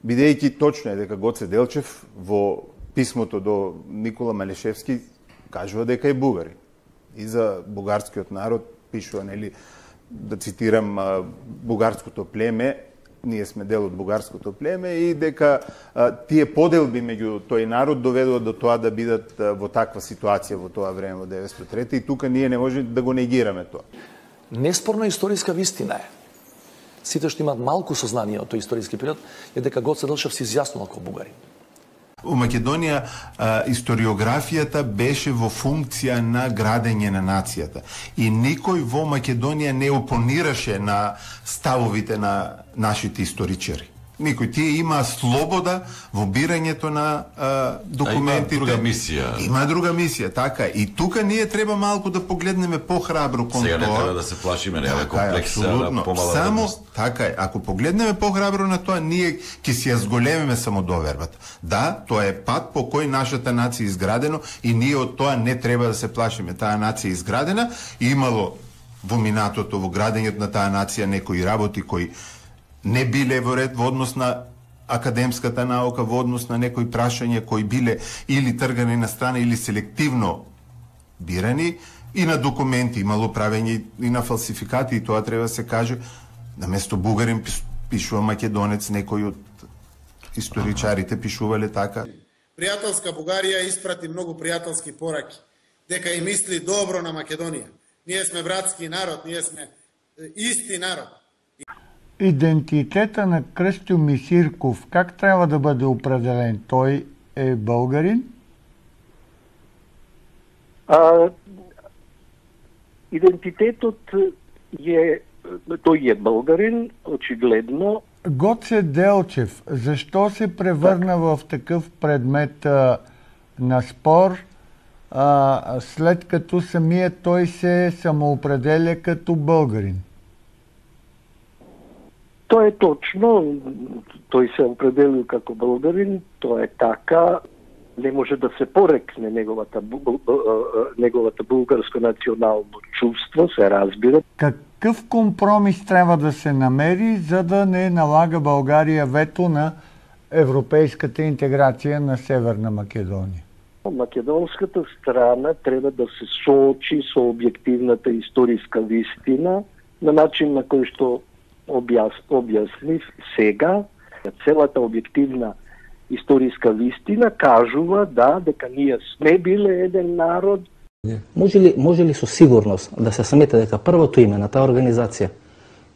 Бидејќи точно е дека Гоце Делчев во писмото до Никола Малешевски кажува дека е бугарин. И за бугарскиот народ пишува, нели, да цитирам, бугарското племе, ние сме дел од бугарското племе и дека тие поделби меѓу тој народ доведува до тоа да бидат во таква ситуација во тоа време во 903 и тука ние не можеме да го негираме тоа. Неспорно историска вистина е. Сите што имаат малку сознание од тој историски период е дека Гоце Делчев се изјаснил како бугарин. У Македонија историографијата беше во функција на градење на нацијата. И никој во Македонија не опонираше на ставовите на нашите историчари. Никој. Тие имаа слобода во бирањето на документите. Има друга мисија. Има друга мисија, така. И тука ние треба малку да погледнеме похрабро кон тоа. Сега не треба да се плашиме, нема комплекс на помала само вредност. така е. Ако погледнеме похрабро на тоа, ние ќе си ја зголемиме самодовербата. Да, тоа е пат по кој нашата нација е изградено и ние од тоа не треба да се плашиме. Таа нација е изградена и имало во минатото, во градењето на таа нација некои работи кои не биле во ред во однос на академската наука, во однос на некои прашања кои биле или тргани на страна или селективно бирани, и на документи имало правење и на фалсификати, и тоа треба да се каже. Наместо бугарин пишува македонец, некои од историчарите пишувале така. Пријателска Бугарија испрати многу пријателски пораки, дека и мисли добро на Македонија. Ние сме братски народ, ние сме исти народ. Идентитета на Крстю Мисирков, как трябва да бъде определен? Той е българин? Идентитетот тој е българин, очигледно. Гоце Делчев, защо се превърна в такъв предмет на спор, след като самият той се самоопределя като българин? Тоа е точно, тој се определил како българин, тоа е така, не може да се порекне неговата булгарско национално чувство, се разбира. Какъв компромис трябва да се намери, за да не налага България вето на европейската интеграция на Северна Македония? Македонската страна треба да се соочи со објективната историска вистина на начин на кој што објаснив сега. Целата објективна историска вистина кажува дека ние сме биле еден народ. Може ли со сигурност да се смета дека првото име на таа организација,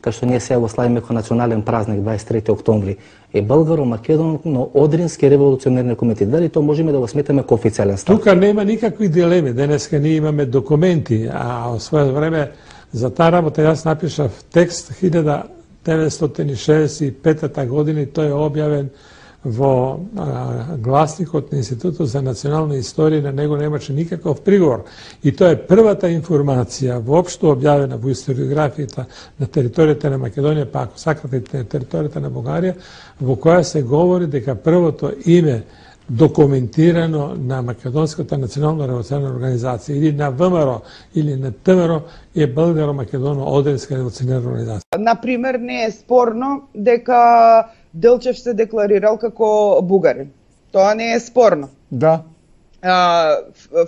кај што ние сега го славиме како национален празник 23 октомври, е Българо-Македонско-Одрински револуционерни комитет? Дали тоа можеме да го сметаме како официјален став? Тука нема никакви дилеми. Денеска ние имаме документи, а во свое време за таа работа јас напишав текст 1965 година и тој е објавен во гласникот на Институтот за национална историја, на него немаше никаков приговор. И тоа е првата информација воопшто објавена во историографијата на територијата на Македонија, па ако сакате на територијата на Бугарија, во која се говори дека првото име документирано на Македонската национална револуционарна организација или на ВМРО или на ВМРО е Българо-Македоно-Одринска револуционарна организација. Например, не е спорно дека Делчев се декларирал како бугарин. Тоа не е спорно. Да.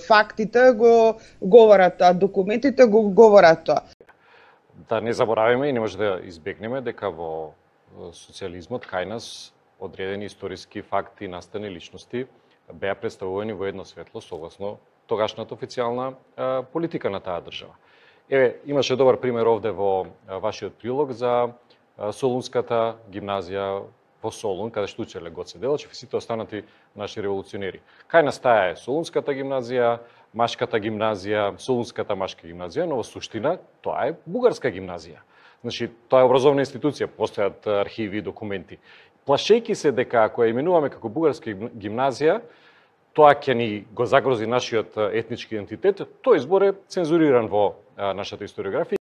Фактите го говорат, а документите го говорат тоа. Да не забораваме и не може да избегнеме дека во социјализмот кај нас одредени историски факти, настани личности беа представувани во едно светло согласно тогашната официјална политика на таа држава. Еве, имаше добар пример овде во вашиот прилог за Солунската гимназија во Солун, каде што учеле Гоце Делчев и сите останати наши револуционери. Кај нас таа е Солунската гимназија, Машката гимназија, Солунската машка гимназија, но во суштина тоа е бугарска гимназија. Значи, тоа е образовна институција, постојат архиви и документи. Плашејќи се дека ако ја именуваме како бугарска гимназија, тоа ќе ни го загрози нашиот етнички идентитет, тој избор е цензуриран во нашата историографија.